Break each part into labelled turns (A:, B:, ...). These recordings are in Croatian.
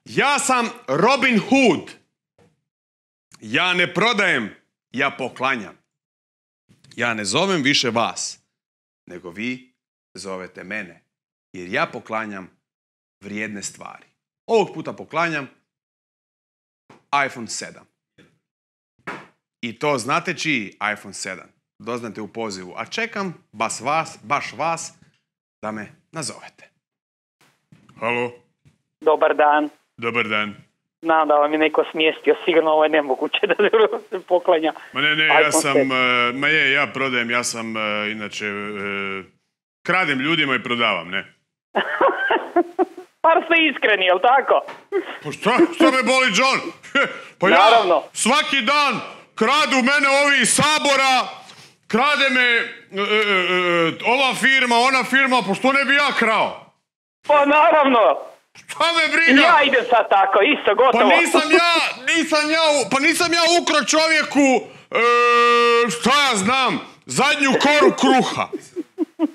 A: Ja sam Robin Hood. Ja ne prodajem, ja poklanjam. Ja ne zovem više vas, nego vi zovete mene. Jer ja poklanjam vrijedne stvari. Ovog puta poklanjam iPhone 7. I to znate čiji iPhone 7? Doznate u pozivu. A čekam baš vas da me nazovete. Halo?
B: Dobar dan.
A: Dobar dan.
B: Znam da vam je neko smjestio, sigurno ovo je nemoguće da se poklanja.
A: Ma ne, ja prodajem, ja sam inače kradem ljudima i prodavam, ne?
B: Par ste iskreni, jel tako?
A: Pa šta me boli, John? Pa
B: naravno.
A: Ja svaki dan kradu mene ovi iz Sabora, krade me ova firma, ona firma, pa što ne bi ja krao?
B: Pa naravno.
A: Šta me briga?
B: Ja idem sad tako, isto, gotovo.
A: Pa nisam ja ukro čovjeku, šta ja znam, zadnju koru kruha.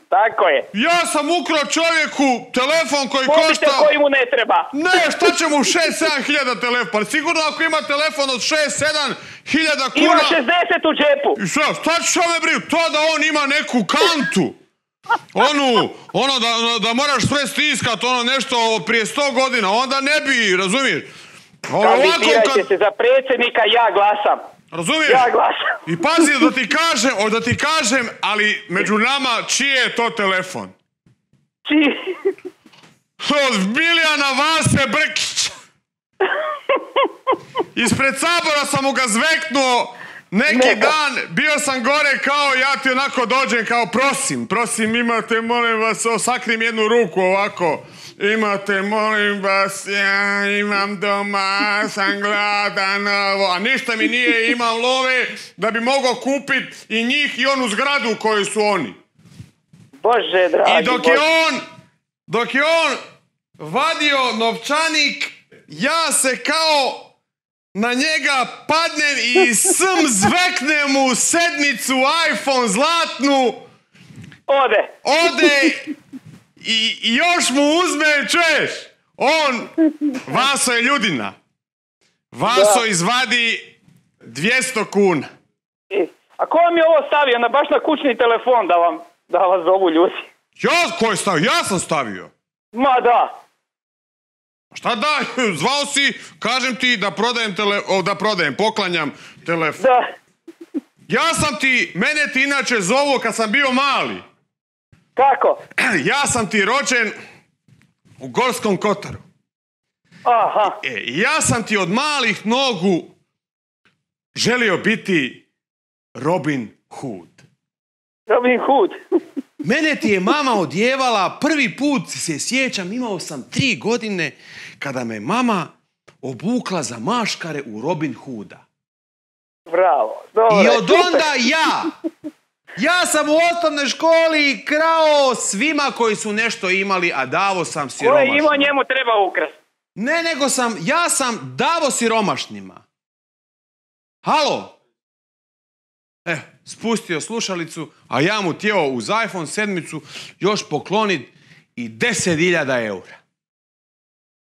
B: Tako je.
A: Ja sam ukro čovjeku telefon koji košta...
B: Mobitel koji mu ne treba.
A: Ne, šta će mu 6-7 hiljada telefon? Pa sigurno ako ima telefon od 6-7 hiljada kuna...
B: Ima 60 u džepu.
A: I šta me briga? To da on ima neku kantu. Da moraš sve stiskat, nešto prije 100 godina, onda ne bi, razumiješ?
B: Kandidirajte se za predsjednika, ja glasam.
A: Razumiješ?
B: Ja glasam.
A: I pazi, da ti kažem, ali među nama, čiji je to telefon?
B: Čiji?
A: Od Bilijana Vase Brkića. Ispred Sabora sam mu ga zveknuo neki dan, bio sam gore kao ja ti onako dođem kao prosim, imate, molim vas, sakrim jednu ruku ovako. Imate, molim vas, ja imam doma, sam gladan, a ništa mi nije, imam love da bi mogao kupiti i njih i onu zgradu koju su oni.
B: Bože, dragi,
A: I dok je on vadio novčanik, ja se kao na njega padnem i zveknem mu sedmicu iPhone zlatnu. Ode i još mu uzme, čuješ? Vaso je ljudina. Vaso izvadi 200 kuna.
B: A ko vam je ovo stavio baš na kućni telefon da vas zovu ljudi?
A: Ko je stavio? Ja sam stavio.
B: Ma da.
A: Šta da? Zvao si, kažem ti da poklanjam telefon.
B: Da.
A: Mene ti inače zovu kad sam bio mali.
B: Kako?
A: Ja sam ti rođen u Gorskom Kotaru.
B: Aha.
A: Ja sam ti od malih nogu želio biti Robin Hood.
B: Robin Hood?
A: Mene ti je mama odjevala, prvi put se sjećam, imao sam 3 godine kada me mama obukla za maškare u Robin Hooda.
B: Bravo, dobro.
A: I od onda ja sam u osnovnoj školi krao svima koji su nešto imali, a davo sam siromašnima.
B: Ko je imao, njemu treba ukrast.
A: Ne, nego ja sam davo siromašnima. Halo? Spustio slušalicu, a ja mu tijelo uz iPhone 7 još poklonit i 10.000 eura.